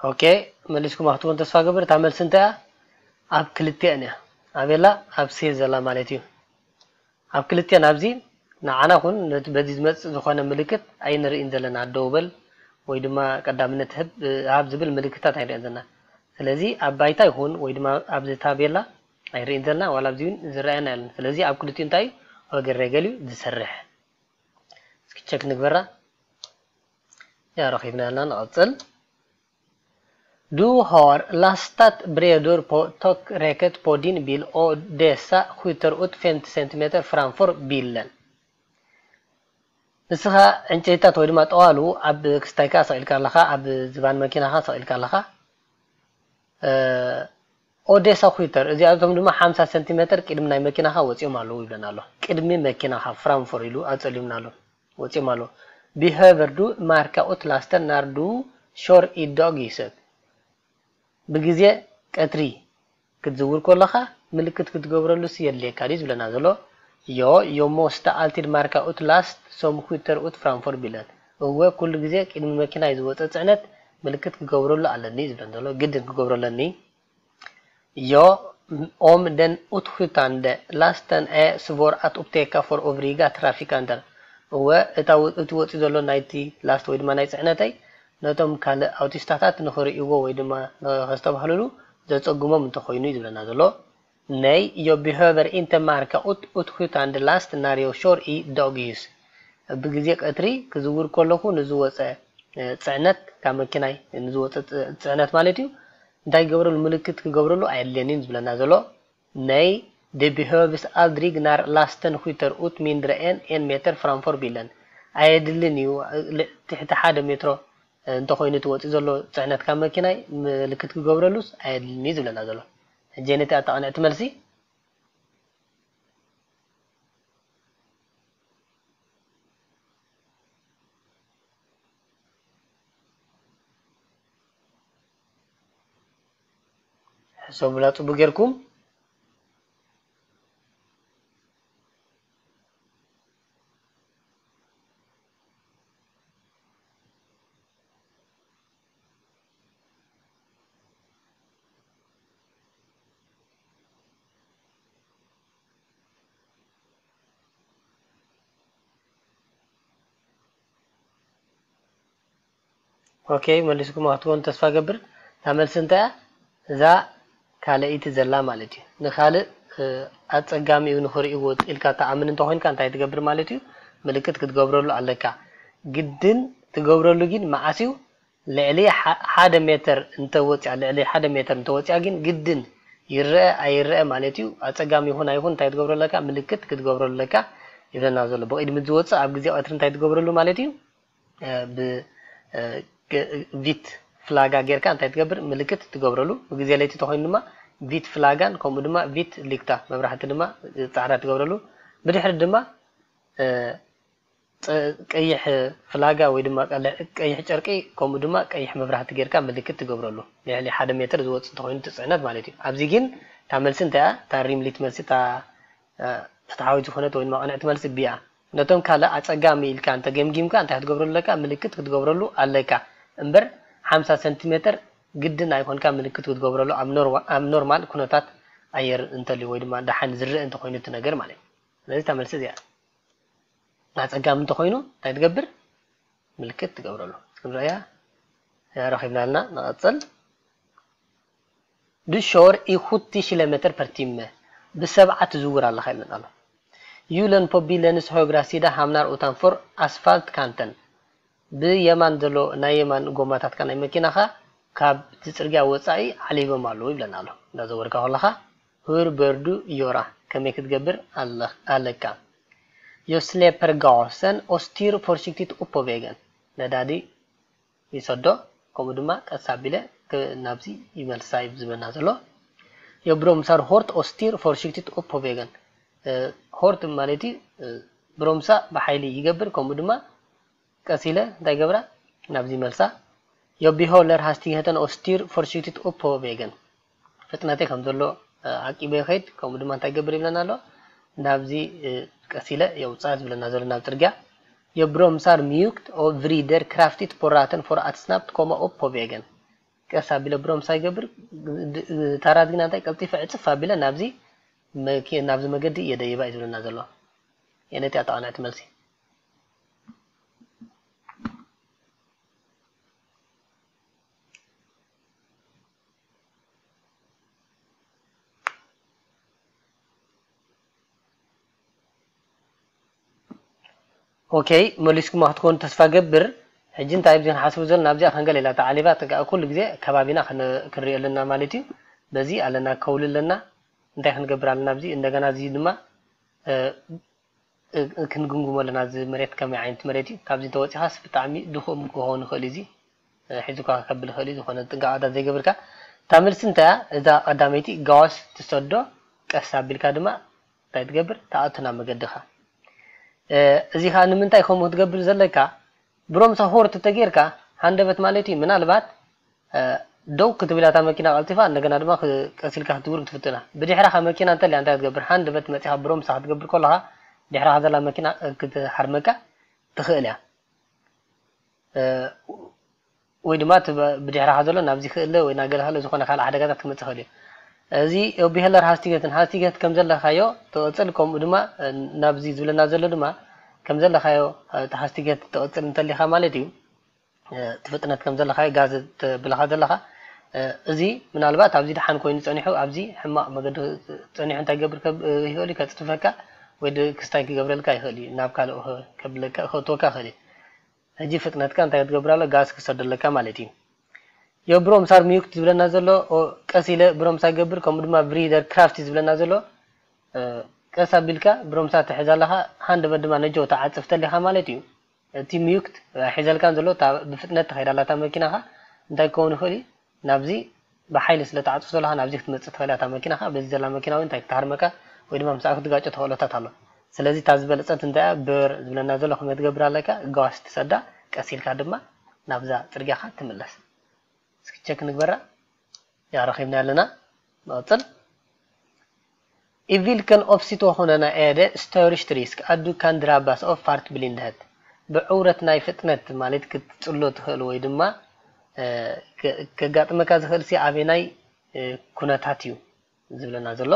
ኦኬ፣ መሊስኩም ክትኮን ተስፋ ገብር። እታ መልሲ እንታይ እያ? ኣብ ክልቲአን እያ። ኣበላ ኣብ ሴ ዘላ ማለት እዩ። ኣብ ክልቲአን ኣብዚ ንዓና ኩን ነቲ በዚ ዝመጽእ ዝኾነ ምልክት ኣይንርእን ዘለና። ደው በል፣ ወይ ድማ ቀዳምነት ህብ ሃብ ዝብል ምልክታት ኣይንሪእን ዘለና። ስለዚ ኣብ ባይታ ይኹን ወይ ድማ ኣብዚ ታቤላ ኣይንሪእን ዘለና፣ ዋላ ኣብዚ እውን ዝረኣየና የለን። ስለዚ ኣብ ክልቲኡ እንታይ እዩ? ሆገር ሬገል እዩ ዝሰርሕ። እስኪ ቸክ ንግበራ። ያ ረኺብና ኣለና፣ ንቐጽል። Du har lastat brädor på takräcket på din bil och dessa skjuter ut femtio centimeter framför bilen. ንስኻ ዕንጨይታት ወይ ድማ ጠዋሉ ኣብ ክስታይካ ሰቒልካ ኣለኻ፣ ኣብ ዝባን መኪናኻ ሰቒልካ ኣለኻ። ኦዴሳ ኩተር እዚኣቶም ድማ ሓምሳ ሰንቲሜተር ቅድሚ ናይ መኪናኻ ወፂኦም ኣለዉ ይብለና ኣሎ። ቅድሚ መኪናኻ ፍራንፎር ኢሉ ኣፀሊምና ኣሎ፣ ወፂኦም ኣለዉ። ቢሄቨር ዱ ማርካ ኡት ላስተን ናር ዱ ሾር ኢዳግ ይሰት። ብግዜ ቀትሪ ክትዝውር ከለኻ ምልክት ክትገብረሉስ የድልየካ ድዩ ዝብለና ዘሎ? ዮ፣ ዮ ሞስተ ኣልቲድ ማርካ ኡት ላስት ሶም ኩተር ኡት ፍራንፎር ቢለን። እወ፣ ኩሉ ግዜ ቅድሚ መኪናይ ዝወፀ ፅዕነት ምልክት ክገብረሉ ኣለኒ ዝብለን ዘሎ፣ ግድን ክገብሮ ኣለኒ። ዮ፣ ኦም ደን ኡትኹታንደ ላስተን እ ስቮር ኣት ኡፕቴካ ፎር ኦቭሪጋ ትራፊካንተር። እወ፣ እታ ወ-፣ እቲ ወፂኡ ዘሎ ናይቲ ላስት ወይ ድማ ናይ ፅዕነተይ ነቶም ካልእ ኣውቲስታታት ንኽርእይዎ ወይ ድማ ንኸስተብህልሉ ዘፀግሞም እንተኾይኑ እዩ ዝብለና ዘሎ። ናይ ዮ ቢሄቨር ኢንተ ማርካ ኡት ኡትኹታንደ ላስት ናር ዮ ሾር ኢ ዳግ ዩስ። ብግዜ ቀትሪ ክዝውር ከለኹ ንዝወፀ፣ እ፣ ፅዕነት ካብ መኪናይ ንዝወፀ ፅ-፣ ፅዕነት ማለት እዩ። እንታይ ክገብረሉ፣ ምልክት ክገብረሉ ኣየድልየንን ዝብለና ዘሎ። ናይ ደ ቢሄቭስ ኣልድሪግ ናር ላስተን ኹተር ኡት ሚንድረ ኤን ኤን ሜተር ፍራንፎር ቢለን። ኣየድልን እዩ። ል-፣ ትሕቲ ሓደ ሜትሮ እንተኾይኑ እቲ ወፂኡ ዘሎ ፅዕነት ካብ መኪናይ ምልክት ክገብረሉስ ኣየድልን እዩ ዝብለና ዘሎ። ሕጂ ነቲ ኣጣቕንዕቲ መልሲ ሕሰቡላ ጽቡቅ ጌርኩም። ኦኬ፣ መሊስኩም ክትኮኑ ተስፋ ገብር። እታ መልሲ እንታይ እያ? እዛ ካልኣይቲ ዘላ ማለት እዩ። ንኻልእ፣ እ፣ ኣጸጋሚ እዩ ንኽርእይዎ ኢልካ ትኣምን እንተኾይንካ እንታይ ትገብር ማለት እዩ? ምልክት ክትገብረሉ ኣለካ። ግድን ትገብረሉ ግን መዓስ እዩ? ልዕሊ ሓ-፣ ሓደ ሜተር እንተወፅያ፣ ልዕሊ ሓደ ሜተር እንተወፅያ ግን ግድን ይረአ ኣይረአ ማለት እዩ። ኣጸጋሚ ይኹን ኣይኹን እንታይ ትገብረሉ ኣለካ? ምልክት ክትገብረሉ ኣለካ ይብለና ዘሎ። ብቕድሚት ዝወፅእ ኣብ ግዜ ቀትሪ እንታይ ትገብረሉ ማለት እዩ? እ፣ ብ-፣ እ፣ ግ-፣ ቪት ፍላጋ ጌርካ እንታይ ትገብር? ምልክት ትገብረሉ። ብግዜ ለይቲ ተኾይኑ ድማ ቪት ፍላጋን ከምኡ ድማ ቪት ሊክታ መብራህቲ ድማ ጻዕዳ ትገብረሉ። ብድሕሪት ድማ፣ እ፣ ጸ-፣ ቀይሕ ፍላጋ ወይ ድማ ቀለ-፣ ቀይሕ ጨርቂ ከምኡ ድማ ቀይሕ መብራህቲ ጌርካ ምልክት ትገብረሉ። ልዕሊ ሓደ ሜትር ዝወጽእ እንተኾይኑ እቲ ጽዕነት ማለት እዩ። ኣብዚ ግን እታ መልሲ እንታይ እያ? እታ ሪምሊት መልሲ እታ፣ እ፣ ፍትሓዊት ዝኾነት ወይ ድማ ቅንዕቲ መልሲ ቢ እያ። ነቶም ካልእ ኣጸጋሚ ኢልካ እንተ ገምጊምካ እንታይ ክትገብረሉ ኣለካ? ምልክት ክትገብረሉ ኣለካ። እምበር ሓምሳ ሰንቲሜተር ግድን ኣይኮንካ ምልክት ክትገብረሉ ኣብ ኖርዋ-፣ ኣብ ኖርማል ኩነታት ኣየር እንተልዩ ወይ ድማ ደሓን ዝረአ እንተኾይኑ እቲ ነገር ማለት እዩ። ስለዚ እታ መልሲ እዚኣ። ኣጸጋሚ እንተኾይኑ እንታይ ትገብር? ምልክት ትገብረሉ። ክንርእያ ረኺብና ኣለና። ንቐጽል። Du kör i sjuttio kilometer per timme. ብሰብዓ ትዝውር ኣለኻ ኢልና ኣሎ። Hjulen på bilens högra sida hamnar utanför asfaltkanten. ብየማን ዘሎ ናይ የማን ጎማታትካ ናይ መኪናኻ ካብቲ ጽርግያ ወጻኢ ዓሊቦም ኣለዉ ይብለና ኣሎ። እንዳዘወርካ ከለኻ፣ Hur bör du göra? ከመይ ክትገብር ኣለ-፣ ኣለካ? Jag släpper gasen och styr försiktigt upp på vägen. ነዳዲ ይሰዶ፣ ከምኡ ድማ ቀስ ኣቢለ ክ-፣ ናብዚ ይመልሳ እዩ ዝብለና ዘሎ። Jag bromsar hårt och styr försiktigt upp på vägen. እ፣ ሆርት ማለት እዩ፣ እ፣ ብሮምሳ ብሓይሊ ይገብር፣ ከምኡ ድማ ቀስ ኢለ እንታይ ገብራ? ናብዚ መልሳ። Jag behåller hastigheten och styr försiktigt upp på vägen. ፍጥነተይ ከም ዘሎ፣ እ፣ ዓቂበ ይኸይድ፣ ከምኡ ድማ እንታይ ገብር ይብለና ኣሎ? ናብዚ፣ እ፣ ቀስ ኢለ የውፅኣ ዝብለና ዘሎ ናብ ፅርግያ። Jag bromsar mjukt och vrider kraftigt på ratten för att snabbt komma upp på vägen. ቀስ ኣቢለ ብሮምሳ ይገብር፣ ድ-፣ ድ-፣ ታራት ግና እንታይ ቀልጢፈ ዕፅፍ ኣቢለ ናብዚ መኪ-፣ ናብዚ መገዲ የደይባ እዩ ዝብለና ዘሎ። የነቲ ኣጠቓላዕቲ መልሲ። ኦኬ፣ መሊስኩማ ክትኮኑ ተስፋ ገብር። ሕጂ እንታይ ብዚ ክንሓስቡ ዘለና ኣብዚኣ ከንገል ኢላ ተዓሊባ ተጋ ኩሉ ግዜ ከባቢና ክን- ክንሪኦ ኣለና ማለት እዩ። በዚ ኣለና ከውሊ ኣለና። እንታይ ክንገብር ኣለና ኣብዚ እንደገና እዚ ድማ እ፣ እ፣ ክንግምግሞ ኣለና። እዚ መሬት ከመይ ዓይነት መሬት እዩ? ካብዚ እንተወፂኻስ ብጣዕሚ ድኹም ክኸውን ይኽእል እዩ። እዚ እ፣ ሒዙካ ከብል ይኽእል እዩ። ዝኾነ ጥንቃቐታት ዘይገብርካ እታ መልሲ እንታይ እያ? እዛ ቀዳመይቲ ጋዋስ ትሰዶ ቀስ ኣቢልካ ድማ እንታይ ትገብር? ተኣቱ ናብ መገድኻ። እ፣ እዚ ኸዓ ንምንታይ ከምኡ ክትገብር ዘለካ? ብሮምሳ ሆርት ተጌርካ ሃንደበት ማለት እዩ። ምናልባት እ፣ ደው ክትብል እያ እታ መኪና ቀልጢፋ፣ እንደገና ድማ ክ- ቀስ ኢልካ ክትድውር ክትፍትና። ብድሕራኻ መኪና እንተልያ እንታይ ክትገብር? ሃንደበት መፂኻ ብሮምሳ ክትገብር ከለኻ ድሕራኻ ዘላ መኪና እ፣ ክትሃርመካ ትኽእል እያ። እ፣ ወይ ድማ እቲ በ- ብድሕራኻ ዘሎ ናብዚ ክእለ ወይ ናገለ ክእለ ዝኾነ ካልእ ሓደጋታት ክመፅእ ይኽእል እዩ። እዚ ኦቢሄለር ሃስቲገትን ሃስቲገት ከም ዘለኻዮ ትቕፅል፣ ከምኡ ድማ እ፣ ናብዚ ዝብለና ዘሎ ድማ ከም ዘለኻዮ እ፣ እቲ ሃስቲገት ትቕፅል እንተሊኻ ማለት እዩ። እ፣ እቲ ፍጥነት ከም ዘለኻዮ ጋዝ ተብለኻ ዘለኻ እ፣ እዚ ምናልባት ኣብዚ ደሓን ኮይኑ ፀኒሑ ኣብዚ ሕማቕ መገዲ ፀኒሑ እንታይ ገብር ከብ- ይኽእል እዩ ከፅድፈካ ወይ ድ- ክስታይ ክገብረልካ ይኽእል እዩ ናብ ካልእ ከብለካ ከእትወካ ይኽእል እዩ። ሕጂ ፍጥነትካ እንታይ ክትገብር ኣሎ ጋዝ ክሰደለካ ማለት እዩ። ዮ ብሮምሳር ሚዩክት ዝብለና ዘሎ ኦ፣ ቀስ ኢለ ብሮምሳ ገብር ከምኡ ድማ ብሪደር ክራፍት ዝብለና ዘሎ እ፣ ቀስ ኣቢልካ ብሮምሳ ትሕዝ ኣለኻ፣ ሃንደበት ድማ ነጀው ትዓጽፍ ተሊኻ ማለት እዩ። እቲ ሚዩክት ኣይሒዘልካን ዘሎ እታ ብፍጥነት ትኸይድ ኣላ እታ መኪናኻ እንታይ ክኸውን ይኽእል እዩ? ናብዚ ብሓይሊ ስለ ትዓጽፍ ዘለኻ ናብዚ ክትመጽእ ትኽእል እያ እታ መኪናኻ። በዚ ዘላ መኪና እውን እንታይ ክትሃርመካ ወይ ድማ ምስኣ ክትጋጮ ተኽእሎታት ኣሎ። ስለዚ እታ ዝበለጸት እንታይ እያ? ብር ዝብለና ዘሎ ከመይ ትገብር ኣለካ? ጋዋስ ትሰዳ፣ ቀስ ኢልካ ድማ ናብዛ ጽርግያኻ ትምለስ። እስኪ ቸክ ንግበራ። ያ ረኺብና ኣለና። ንቐጽል። I hvilken oppsituasjon er det størst risk at du kan drabbes av fartsblindhet? ብዕውረት ናይ ፍጥነት ማለት ክትጽሎ ትኽእል ወይ ድማ እ፣ ከ- ከጋጥመካ ዝኽእል ሲ ኣበናይ እ፣ ኩነታት እዩ ዝብለና ዘሎ።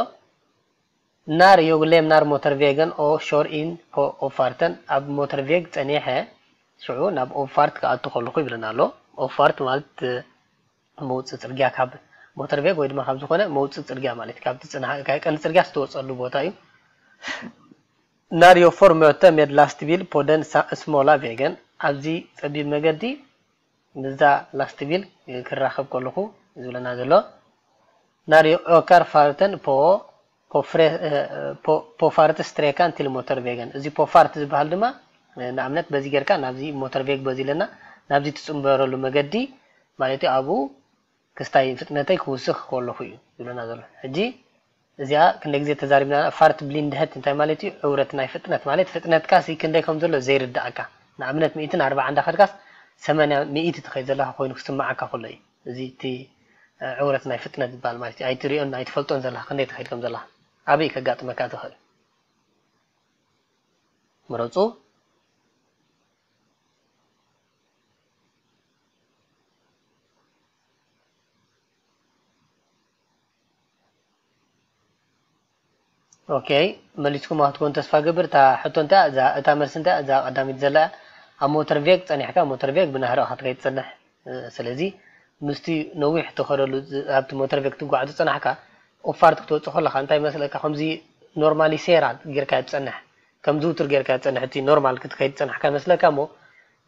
Når jeg lämner motorveien og kjører inn på oppfarten, ኣብ ሞተርቬግ ጸኒሐ ሽዑ ናብ ኦፋርት ክኣቱ ከለኹ ይብለና ኣሎ። ኦፋርት ማለት እ፣ መውፅእ ፅርግያ ካብ ሞተርቬግ ወይ ድማ ካብ ዝኾነ መውፅእ ፅርግያ ማለት እዩ። ካብቲ ፅና- ካብ ቀንዲ ፅርግያ ዝተወፀሉ ቦታ እዩ። Når jeg får møte med lastbil på den sa- smale veien, ኣብዚ ፀቢብ መገዲ ምስዛ ላስትቢል ክራኸብ ከለኹ ዝብለና ዘሎ Når jeg øker farten på på fre- på på fartsstreken til motorveien. እዚ ፖፋርት ዝበሃል ድማ ንኣብነት በዚ ጌርካ ናብዚ ሞተርቬግ በዚ ኣለና ናብዚ ትፅንበረሉ መገዲ ማለት እዩ። ኣብኡ ክስታይ ፍጥነተይ ክውስኽ ከለኹ እዩ ዝብለና ዘሎ። ሕጂ እዚኣ ክንደይ ግዜ ተዛሪብና? ፋርት ብሊንድሀት እንታይ ማለት እዩ? ዕውረት ናይ ፍጥነት ማለት ፍጥነትካ ሲ ክንደይ ከም ዘሎ ዘይርዳእካ። ንኣብነት ሚእትን ኣርባዓን እንዳኸድካስ ሰማንያ ሚእቲ ትኸይድ ዘለኻ ኮይኑ ክስምዓካ ከሎ እዩ። እዚ እቲ እ፣ ዕውረት ናይ ፍጥነት ዝበሃል ማለት እዩ። ኣይትሪኦን ኣይትፈልጦን ዘለኻ ክንደይ ትኸይድ ከም ዘለኻ ኣበይ ከጋጥመካ ትኽእል? ምረፁ። ኦኬ፣ መሊስኩም ክትኮን ተስፋ ገብር። እታ ሕቶ እንታይ እያ? እዛ እታ መልሲ እንታይ እያ? እዛ ቀዳሚት ዘላ እያ። ኣብ ሞተር ቬግ ጸኒሕካ ሞተር ቬግ ብናህሪ ኢኻ ትከይድ ትጸንሕ። እ፣ ስለዚ ምስቲ ነዊሕ ትኸደሉ ዝ- ኣብቲ ሞተር ቬግ ትጓዓዝ ዝጸናሕካ ኦፋርት ክትወጽእ ከለኻ እንታይ መስለካ ከምዚ ኖርማሊ ሴራ ጌርካ ትጸንሕ ከም ዝውትር ጌርካ ትጸንሕ እቲ ኖርማል ክትከይድ ዝጸናሕካ መስለካ እሞ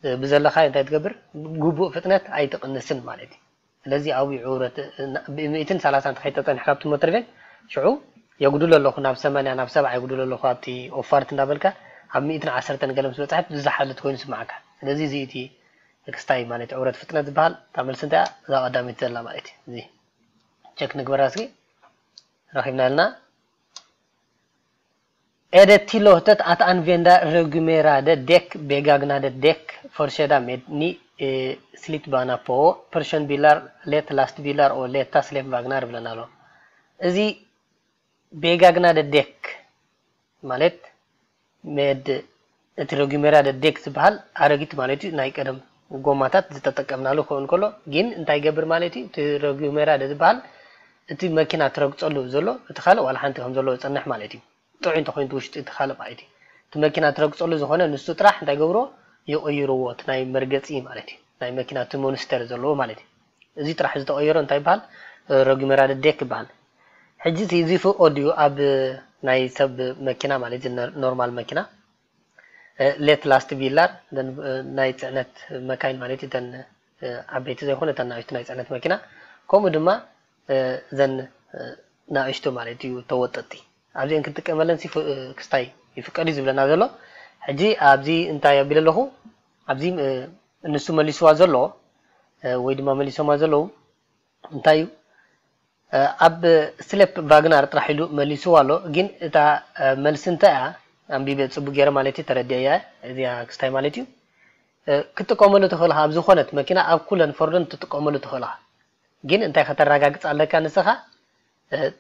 እ፣ ብዘለካ እንታይ ትገብር ግቡእ ፍጥነት ኣይትቕንስን ማለት እዩ። ስለዚ ኣብኡ ዕውረት ብሚእትን ሰላሳን ተኸይድ ተጸኒሕካ ኣብቲ ሞተር ቬግ ሽዑ የጉድሎ ኣለኹ ናብ ሰማንያ ናብ ሰብዓ የጉድሎ ኣለኹ ኣብቲ ኦፋርት እንዳበልካ ኣብ ሚእትን ዓሰርተን ገለ ምስ በጽሐት ዝሓልት ኮይኑ ይስምዓካ። ስለዚ እዚ እቲ ክስታይ ማለት ዕውረት ፍጥነት ዝበሃል እታ መልሲ እንታይ እያ? እዛ ቀዳሚት ዘላ ማለት እዩ። እዚ ቸክ ንግበራ እስኪ ረኺብና ኣለና። Är det tillåtet att använda regumerade däck, begagnade däck, försedda med ny eh, slitbana på, personbilar, lätta lastbilar och lätta släpvagnar ብለና ኣሎ። እዚ begagnade däck ማለት መድ እቲ ረጉሜራ ደዴክ ዝበሃል ኣረጊት ማለት እዩ ናይ ቀደም ጎማታት ዝተጠቀምናሉ ክኸውን ከሎ ግን እንታይ ይገብር ማለት እዩ እቲ ረጉሜራ ዝበሃል እቲ መኪና ትረግፀሉ ዘሎ እቲ ካልእ ዋላ ሓንቲ ከም ዘለዎ ዝፀንሕ ማለት እዩ ጥዑይ እንተኮይኑ እቲ ውሽጢ እቲ ካልእ ማለት እዩ እቲ መኪና ትረግፀሉ ዝኾነ ንሱ ጥራሕ እንታይ ገብሮ ይቕይርዎ እቲ ናይ መርገፂ ማለት እዩ ናይ መኪና እቲ ሞንስተር ዘለዎ ማለት እዩ እዚ ጥራሕ ዝተቐየሮ እንታይ ይበሃል ረጉሜራ ደዴክ ይበሃል ሕጂ እዚ ፍቕድ እዩ ኣብ ናይ ሰብ መኪና ማለት እዩ ኖርማል መኪና ሌት ላስት ቢላር ናይ ፅዕነት መካይን ማለት እዩ። እተን ዓበይቲ ዘይኮነ እተን ንኣሽቱ ናይ ፅዕነት መኪና፣ ከምኡ ድማ እዘን ንኣሽቱ ማለት እዩ ተወጠጥቲ፣ ኣብዚአን ክንጥቀመለን ክስታይ ይፍቀድ እዩ ዝብለና ዘሎ። ሕጂ ኣብዚ እንታይ ኣቢለ ኣለኹ? ኣብዚ ንሱ መሊስዋ ዘሎ ወይ ድማ መሊሶማ ዘለዉ እንታይ እዩ? ኣብ ስሌፕ ቫግናር ጥራሕ ኢሉ መሊስዋ ኣሎ። ግን እታ መልሲ እንታይ እያ? ኣንቢበ ፅቡቅ ገይረ ማለት እዩ ተረዲአ እያ። እዚኣ ክስታይ ማለት እዩ። ክትጥቀመሉ ትኽእል ኢኻ ኣብ ዝኾነት መኪና፣ ኣብ ኩለን ፎርደን ትጥቀመሉ ትኽእል ኢኻ። ግን እንታይ ከተረጋግፅ ኣለካ ንስኻ?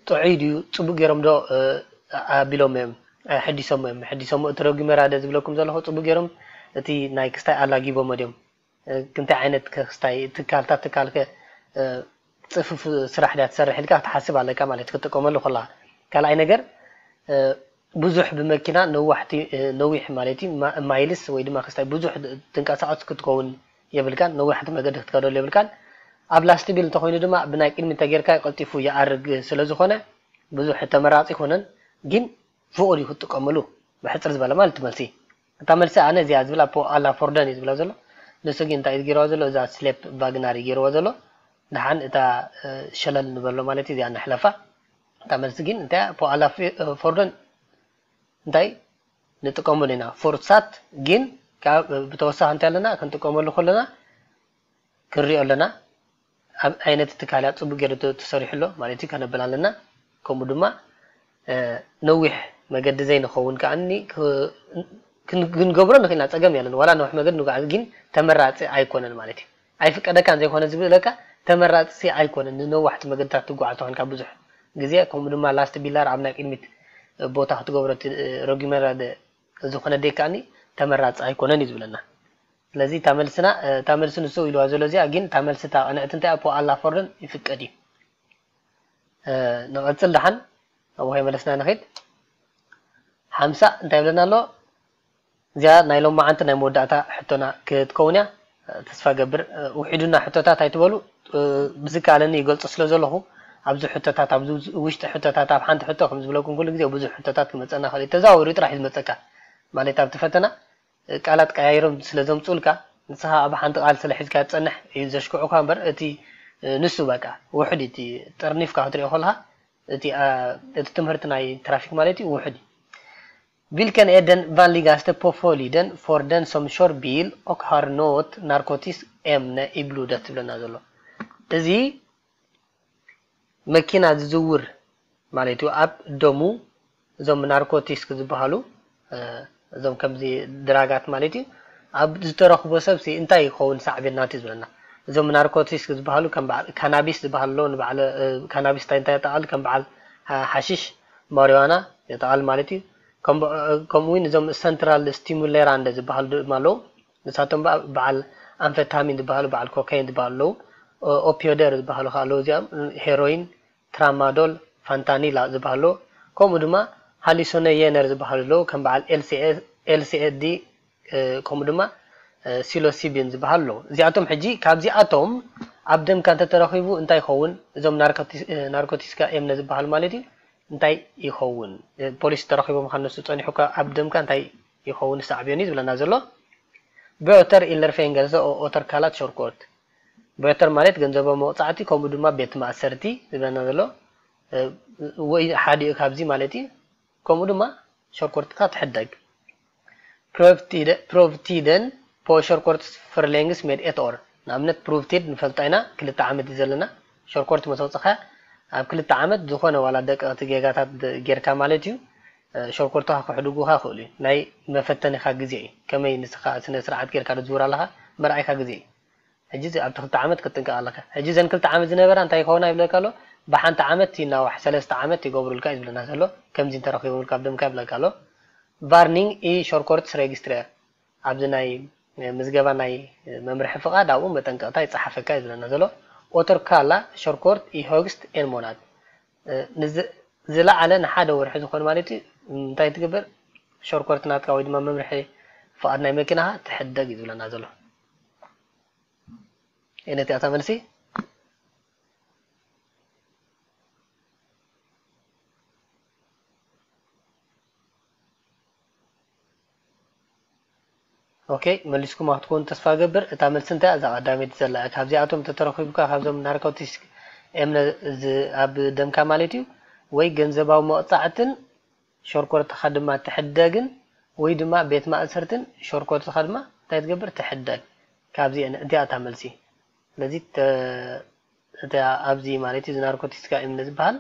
ጥዑይ ድዩ? ፅቡቅ ገይሮም ዶ ኣቢሎም እዮም? ሕዲሶም እዮም? ሕዲሶም እቲ ረጉመራደ ዝብለኩም ዘለኹ ፅቡቅ ገይሮም እቲ ናይ ክስታይ ኣላጊቦሞ ድዮም? ክንታይ ዓይነት ክስታይ ትካልታት ትካልከ ፅፉፍ ስራሕ ድያ ትሰርሕ ኢልካ ክትሓስብ ኣለካ ማለት ክትጥቀመሉ ከላ። ካልኣይ ነገር ብዙሕ ብመኪና ነዋሕቲ ነዊሕ ማለት እዩ ማይልስ ወይ ድማ ክስታይ ብዙሕ ትንቀሳቐስ ክትከውን የብልካን። ነዋሕቲ መገዲ ክትከደሉ የብልካን። ኣብ ላስት ቢል እንተኮይኑ ድማ ብናይ ቅድሚ ተጌርካ ቀልጢፉ ይኣርግ ስለ ዝኾነ ብዙሕ ተመራፂ ይኮነን። ግን ፍቑድ እዩ ክትጥቀመሉ ብሕፅር ዝበለ ማለት መልሲ። እታ መልሲ ኣነ እዚኣ ዝብላ ፖ ኣላ ፎርደን እዩ ዝብላ ዘሎ። ንሱ ግን እንታይ እዩ ገይርዋ ዘሎ? እዛ ስሌፕ ቫግናር እዩ ገይርዋ ዘሎ። ደሓን እታ ሸለል ንበሎ ማለት እዩ። እዚኣ ንሕለፋ። እታ መልሲ ግን እንታይ ፖ ኣላ ፎርደን እንታይ ንጥቀመሉ ኢና? ፎርሳት ግን ብተወሳኺ እንታይ ኣለና ክንጥቀመሉ ከለና ክንሪኦ ኣለና። ኣብ ዓይነት ትካል እያ ፅቡቅ ገይሩ ተሰሪሑ ኣሎ ማለት እዩ ከነብል ኣለና። ከምኡ ድማ ነዊሕ መገዲ ዘይንኸውን ከዓኒ ክንገብሮ ንኽእልና ፀገም የለን። ዋላ ነዊሕ መገዲ ንጓዓዝ ግን ተመራፂ ኣይኮነን ማለት እዩ። ኣይፍቀደካን ዘይኮነ ዝብለካ ተመራፂ ኣይኮነን። ንነዋሕቲ መገድታት ትጓዓዝ ተኾንካ ብዙሕ ግዜ ከምኡ ድማ ላስት ቢላር ኣብ ናይ ቅድሚት ቦታ ክትገብሮ ረጊመራ ዝኾነ ደይካኒ ተመራፂ ኣይኮነን እዩ ዝብለና። ስለዚ እታ መልስና እታ መልሲ ንሱ ኢልዋ ዘሎ እዚኣ ግን እታ መልሲ እታ ቅንዕቲ እንታይ ፖ ኣላ ፎርደን ይፍቀድ እዩ። ንቐፅል ደሓን ኣብኡ ከይመለስና ንኸይድ። ሓምሳ እንታይ ይብለና ኣሎ? እዚኣ ናይ ሎማዓንቲ ናይ መወዳእታ ሕቶና ክትከውን እያ። ተስፋ ገብር ውሒዱና ሕቶታት ኣይትበሉ። ብዝከኣለኒ ይገልፆ ስለ ዘለኹ ኣብዚ ሕቶታት ኣብዚ ውሽጢ ሕቶታት ኣብ ሓንቲ ሕቶ ከም ዝብለኩም ኩሉ ግዜ ብዙሕ ሕቶታት ክመፀና ክእል እዩ። ተዛዋዊሩ ጥራሕ እዩ ዝመፀካ ማለት ኣብቲ ፈተና ቃላት ቀያይሮም ስለ ዘምፅኡልካ ንስኻ ኣብ ሓንቲ ቃል ስለ ሒዝካ ትፀንሕ እዩ ዘሽክዑካ እምበር እቲ ንሱ በቃ ውሑድ እቲ ጠርኒፍካ ክትሪኦ ከለካ እቲ እቲ ትምህርቲ ናይ ትራፊክ ማለት እዩ ውሑድ እዩ። Vilken är den vanligaste påföljden för den som kör bil och har något narkotiskt ämne i blodet ትብለና ዘሎ እዚ መኪና ዝዝውር ማለት እዩ ኣብ ደሙ እዞም ናርኮቲስክ ዝበሃሉ እዞም ከምዚ ድራጋት ማለት እዩ ኣብ ዝተረኽቦ ሰብ እንታይ ይኸውን ሳዕቤን ናት እዩ ዝብለና። እዞም ናርኮቲስክ ዝበሃሉ ከም በዓል ካናቢስ ዝበሃል ኣሎ። ንበዓል ካናቢስ እንታይ እንታይ የጠቓል ከም በዓል ሓሽሽ ማሪዋና የጠቓል ማለት እዩ። ከምኡ እውን እዞም ሰንትራል ስቲሙሌራንደ ዝበሃሉ ድማ ኣለዉ። ንሳቶም በዓል ኣንፈታሚን ዝበሃሉ በዓል ኮካይን ዝበሃሉ ኣለዉ። ኦፒዮደር ዝበሃሉ ከዓ ኣለዉ እዚኦም ሄሮይን ትራማዶል ፋንታኒላ ዝበሃሉ ከምኡ ድማ ሃሊሶነየነር ዝበሃሉ ኣለዉ ከም በዓል ኤልሲኤዲ ከምኡ ድማ ሲሎሲቢን ዝበሃሉ ኣለዉ። እዚኣቶም ሕጂ ካብዚኣቶም ኣብ ደምካ እንተተረኺቡ እንታይ ይኸውን? እዞም ናርኮቲስካ ኤምነ ዝበሃሉ ማለት እዩ እንታይ ይኸውን? ፖሊስ ተረኺቦም ከነሱ ፀኒሑ ኣብ ደምካ እንታይ ይኸውን ሳዕቤኑ ዝብለና ዘሎ? Böter eller fängelse och återkallat körkort። Böter ማለት ገንዘባዊ መቕፃዕቲ ከምኡ ድማ ቤት ማእሰርቲ ዝብለና ዘሎ ወይ ሓዲኡ ካብዚ ማለት እዩ። ከምኡ ድማ ሸርኮርትካ ትሕደግ። Prøvtiden på körkort förlängs med ett år። ንኣብነት ፕሩቭቲድ ንፈልጣ ኢና ክልተ ዓመት እዩ ዘለና። ሸርኮርት መሰውፅኻ ኣብ ክልተ ዓመት ዝኾነ ዋላ ደቀቕቲ ጌጋታት ጌርካ ማለት እዩ። ሸርኮርትኻ ክሕድጉኻ ይኽእሉ እዩ። ናይ መፈተኒኻ ግዜ እዩ። ከመይ ንስኻ ስነ ስርዓት ጌርካ ትዝውር ኣለኻ መርኣይካ ግዜ እዩ። ሕጂ ኣብቲ ክልተ ዓመት ክትጥንቀቕ ኣለካ። ሕጂ ዘን ክልተ ዓመት ዝነበራ እንታይ ይኸውና ይብለካ ኣሎ? ብሓንቲ ዓመት ይናዋሕ፣ ሰለስተ ዓመት ይገብሩልካ እዩ ዝብለና ዘሎ። ከምዚ እንተረኺቦምልካ ኣብ ደምካ ይብለካ ኣሎ። Varning i körkortsregistret ኣብዚ ናይ ምዝገባ ናይ መምርሒ ፍቓድ ኣብኡ መጠንቀቕታ ይፀሓፈካ እዩ ዝብለና ዘሎ። Återkalla körkort i högst en månad። ዝለዓለ ንሓደ ወርሒ ዝኾን ማለት እዩ እንታይ ትግበር? ሸርኮርት ናትካ ወይ ድማ መምርሒ ፍቓድ ናይ መኪናኻ ትሕደግ እዩ ዝብለና ዘሎ። ነቲኣታ መልሲ ኦኬ፣ መሊስኩም ክትኮኑ ተስፋ ገብር። እታ መልሲ እንታይ እያ? እዛ ቀዳመይቲ ዘላ እያ። ካብዚኣቶም ተተረኺቡካ ካብዞም ናርኮቲክስ ኤምነ ኣብ ደምካ ማለት እዩ ወይ ገንዘባዊ መቕጻዕትን ሸርኮርትኻ ድማ ትሕደግን ወይ ድማ ቤት ማእሰርትን ሸርኮርትኻ ድማ እንታይ ትገብር? ትሕደግ። ካብዚአን እዚኣ እታ መልሲ። ስለዚ እታ ኣብዚ ማለት እዩ ናርኮቲክስ ኤምነ ዝበሃል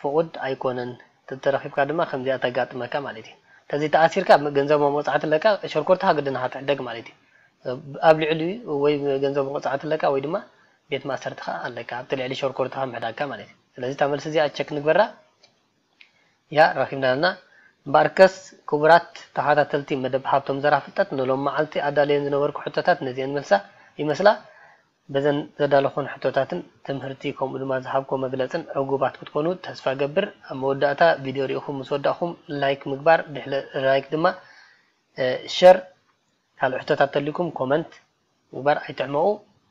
ፍቑድ ኣይኮነን። ተተረኺብካ ድማ ከምዚኣ ተጋጥመካ ማለት እዩ። ተዚ ተኣሲርካ ገንዘብ መቕጻዕቲ ኣለካ፣ ሸርኮርትኻ ግድን ኢኻ ትሕደግ ማለት እዩ። ኣብ ልዕሊ ወይ ገንዘብ መቕጻዕቲ ኣለካ ወይ ድማ ቤት ማእሰርትኻ ኣለካ ኣብቲ ልዕሊ ሸርኮርትኻ ምሕዳግካ ማለት እዩ። ስለዚ እታ መልሲ እዚኣ ቸክ ንግበራ። ያ ረኺብና ኣለና። እምበኣርከስ ክቡራት ተኸታተልቲ መደብ ሃብቶም ዘራ ፍልጠት ንሎም መዓልቲ ኣዳልየን ዝነበርኩ ሕቶታት ነዚአን መልሳ ይመስላ። በዘን ዘዳለኹን ሕቶታትን ትምህርቲ ከምኡ ድማ ዝሃብኮ መግለጽን ዕጉባት ክትኮኑ ተስፋ ገብር። ኣብ መወዳእታ ቪድዮ ሪኢኹም ምስ ወዳእኹም ላይክ ምግባር ድሕለ ላይክ ድማ ሸር ካልእ ሕቶታት ተልኩም ኮመንት ምግባር ኣይትሕመቑ።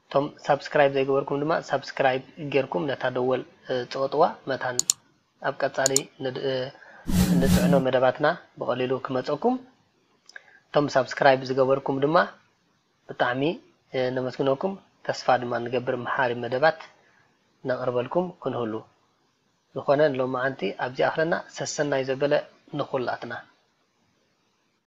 እቶም ሳብስክራይብ ዘይገበርኩም ድማ ሳብስክራይብ ጌርኩም ነታ ደወል ጽቐጥዋ መታን ኣብ ቀጻሊ ንጽዕኖ መደባትና ብቐሊሉ ክመጸኩም። እቶም ሳብስክራይብ ዝገበርኩም ድማ ብጣዕሚ ነመስግነኩም። ተስፋ ድማ ንገብር መሓሪ መደባት ነቕርበልኩም ክንህሉ። ዝኾነ ንሎማዓንቲ ኣብዚ ኣኽለና ሰሰናይ ዘበለ ንኹላትና።